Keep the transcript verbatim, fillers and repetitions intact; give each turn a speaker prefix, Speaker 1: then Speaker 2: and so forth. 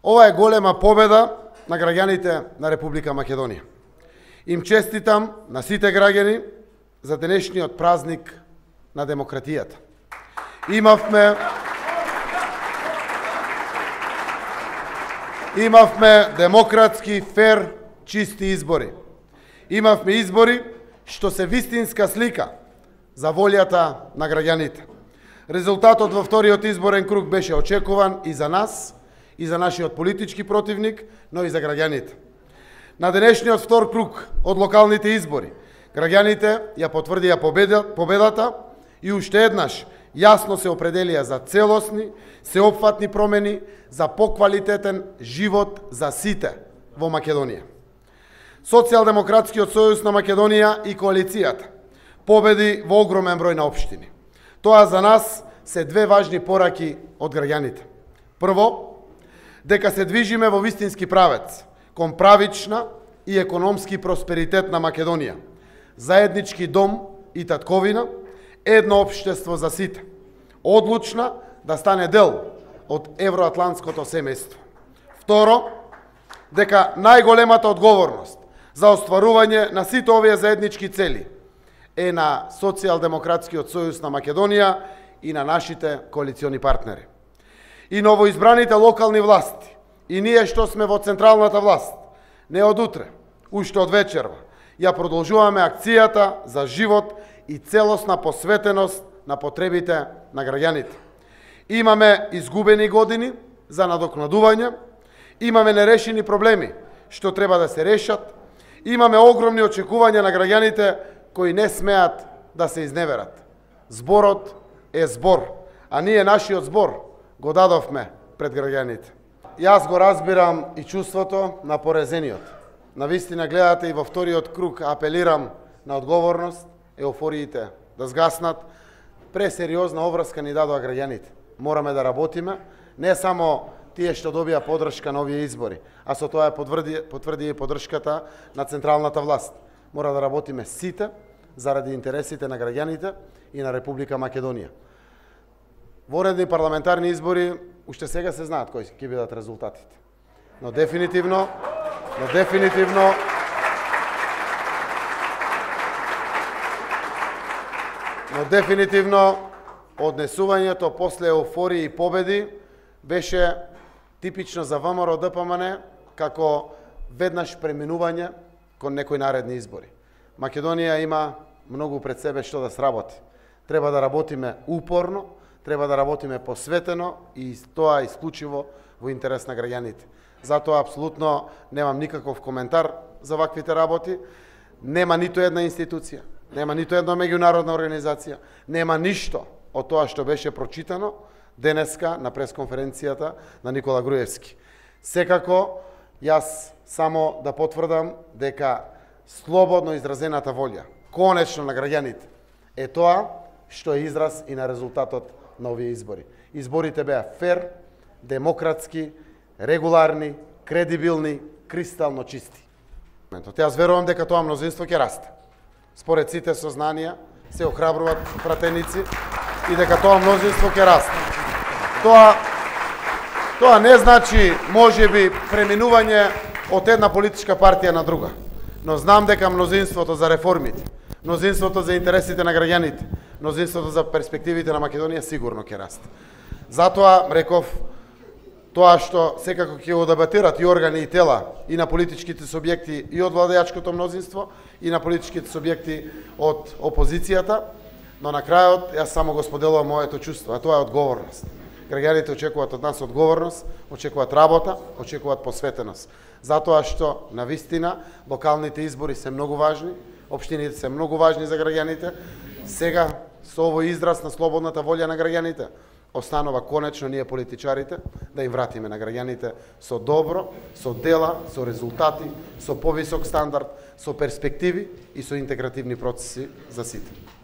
Speaker 1: Ова е голема победа на граѓаните на Република Македонија. Им честитам на сите граѓани за денешниот празник на демократијата. Имавме Имавме демократски, фер, чисти избори. Имавме избори што се вистинска слика за волјата на граѓаните. Резултатот во вториот изборен круг беше очекуван и за нас, и за нашиот политички противник, но и за граѓаните. На денешниот втор круг од локалните избори, граѓаните ја потврдија победата и уште еднаш јасно се определија за целосни, сеопфатни промени за поквалитетен живот за сите во Македонија. Социјалдемократскиот сојуз на Македонија и коалицијата победи во огромен број на општини. Тоа за нас се две важни пораки од граѓаните. Прво, дека се движиме во вистински правец кон правична и економски просперитет на Македонија, заеднички дом и татковина, едно општество за сите, одлучна да стане дел од евроатлантското семејство. Второ, дека најголемата одговорност за остварување на сите овие заеднички цели е на Социјалдемократскиот сојуз на Македонија и на нашите коалициони партнери. И новоизбраните локални власти, и ние што сме во централната власт, не од утре, уште од вечерва, ја продолжуваме акцијата за живот и целосна посветеност на потребите на граѓаните. Имаме изгубени години за надокнадување, имаме нерешени проблеми што треба да се решат, имаме огромни очекувања на граѓаните кои не смеат да се изневерат. Зборот е збор, а ние нашиот збор го дадовме пред граѓаните. Јас го разбирам и чувството на порезениот. Навистина гледате и во вториот круг апелирам на одговорност, еуфориите да згаснат. Пресериозна обврска ни дадоа граѓаните. Мораме да работиме, не само тие што добија поддршка на овие избори, а со тоа потврди, потврди и поддршката на централната власт. Мора да работиме сите заради интересите на граѓаните и на Република Македонија. Во редни парламентарни избори уште сега се знаат кои ќе бидат резултатите. Но дефинитивно, но дефинитивно Но дефинитивно однесувањето после еуфорија и победи беше типично за ВМРО Д П М Н како веднаш преминување кон некои наредни избори. Македонија има многу пред себе што да сработи. Треба да работиме упорно, треба да работиме посветено и тоа исклучиво во интерес на граѓаните. Затоа апсолутно немам никаков коментар за ваквите работи. Нема ниту една институција, нема ниту една меѓународна организација, нема ништо од тоа што беше прочитано денеска на пресконференцијата на Никола Груевски. Секако, јас само да потврдам дека слободно изразената волја, конечно на граѓаните, е тоа што е израз и на резултатот на овие избори. Изборите беа фер, демократски, регуларни, кредибилни, кристално чисти. Јас верувам дека тоа мнозинство ќе расте. Според сите сознанија се охрабруваат пратеници и дека тоа мнозинство ќе расте. Тоа тоа не значи можеби преминување од една политичка партија на друга, но знам дека мнозинството за реформите, мнозинството за интересите на граѓаните, мнозинството за перспективите на Македонија сигурно ќе расте. Затоа реков тоа што секако ќе го дебатират и органи и тела и на политичките субјекти и од владеачкото мнозинство и на политичките субјекти од опозицијата, но на крајот јас само го споделувам моето чувство, а тоа е одговорност. Граѓаните очекуваат од нас одговорност, очекуваат работа, очекуваат посветеност. Затоа што на вистина локалните избори се многу важни, општините се многу важни за граѓаните. Сега со овој израз на слободната волја на граѓаните останува конечно ние политичарите да им вратиме на граѓаните со добро, со дела, со резултати, со повисок стандард, со перспективи и со интегративни процеси за сите.